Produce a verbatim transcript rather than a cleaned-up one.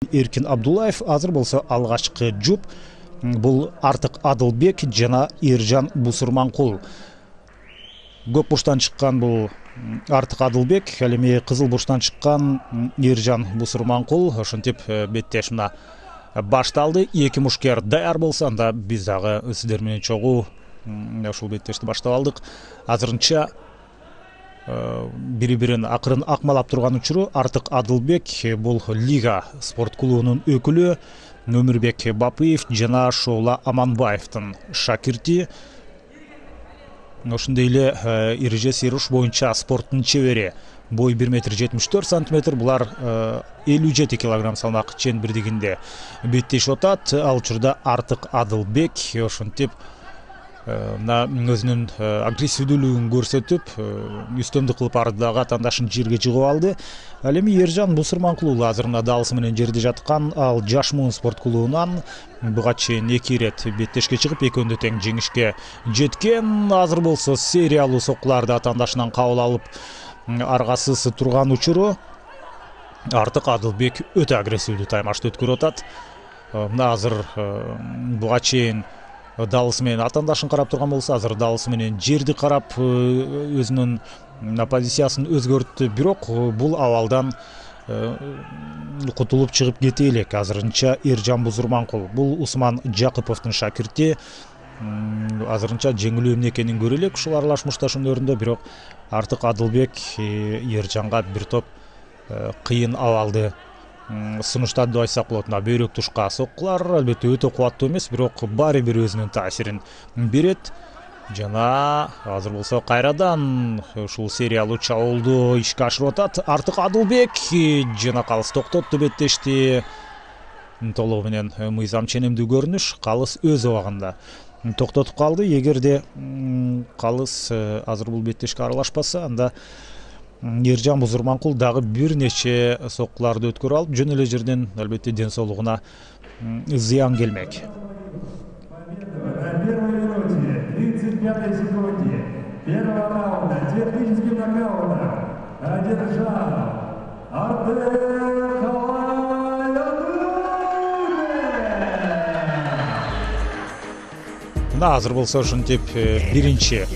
Эркин Абдуллаев азыр болсо алгачкы жуп бул Артык Адылбек жана Эржан Бусурманкул. Көк бурчтан чыккан бул Артык Адылбек, ал эми кызыл бурчтан чыккан Эржан Бусурманкул. Ошентип беттеш мына башталды. Эки мушкер даяр болсо, анда биз дагы сиздер менен чогуу ушул беттешти баштап алдык. Азырынча бири-бирин акырын акмалап турган учуру Артык Адылбек бул Лига спорт клубунун өкүлү, Өмүрбек Бапыев жана Шоола Аманбаевдин шакирти. Ошондой эле эреже уруш боюнча спорттун чебери, бой бир метр жетимиш төрт сантиметр, булар элүү жети килограмм салмак чембирдигинде беттешип атат. Ал учурда Артык Адылбек ошентип мына өзүнүн агрессивдүүлүгүн көрсөтүп, үстөмдүк кылып ардагы атаандашын жерге жыгып алды. Ал эми Эржан Бусурманкул уулу азыр мына далысы менен жерде жаткан. Ал Жаш муун спорт клубунан буга чейин эки ирет беттешке чыгып, экөөндө тең жеңишке жеткен. Азыр болсо сериялуу соккуларды атаандашынан кабыл алып, аргасыз турган учуру Артык Адылбек өтө агрессивдүү таймашты өткөрүп атат. Мына азыр буга чейин далысы менен атаандашын карап турган болсо, азыр далысы менен жерди карап өзүнүн позициясын өзгөрттү. Бирок бул абалдан кутулуп чыгып кете элек. Азырынча Эржан Бусурманкул бул Усман Жакыповдун шакирти. Азырынча жеңилүү эмне экенин көрө элек ушул аралаш мушташөөнөрүндө. Бирок Артык Адылбек Эржанга бир топ кыйын абалды сунуштады деп айтсак болот. Мына бөйрөк тушка соккулар албетте өтө кубаттуу эмес, бирок баары бир өзүнүн таасирин берет. Жана азыр болсо кайрадан ушул сериялуу чабуулду ишке ашырып атат. Артык Адылбек жана калыс токтотту беттешти. Толугу менен мыйзам ченемдүү көрүнүш. Калыс өз убагында токтотуп калды. Эгерде калыс азыр бул беттешке аралашпаса, анда Эржан Бусурманкул дагы бир нече соккуларды өткөрүп алып, жөн эле жерден албетте ден соолугуна зыян келмек. тридцать пятой секунде первого раунда техническим нокаутом одержал Артык Адылбек. Мына азыр болсо ошентип биринчи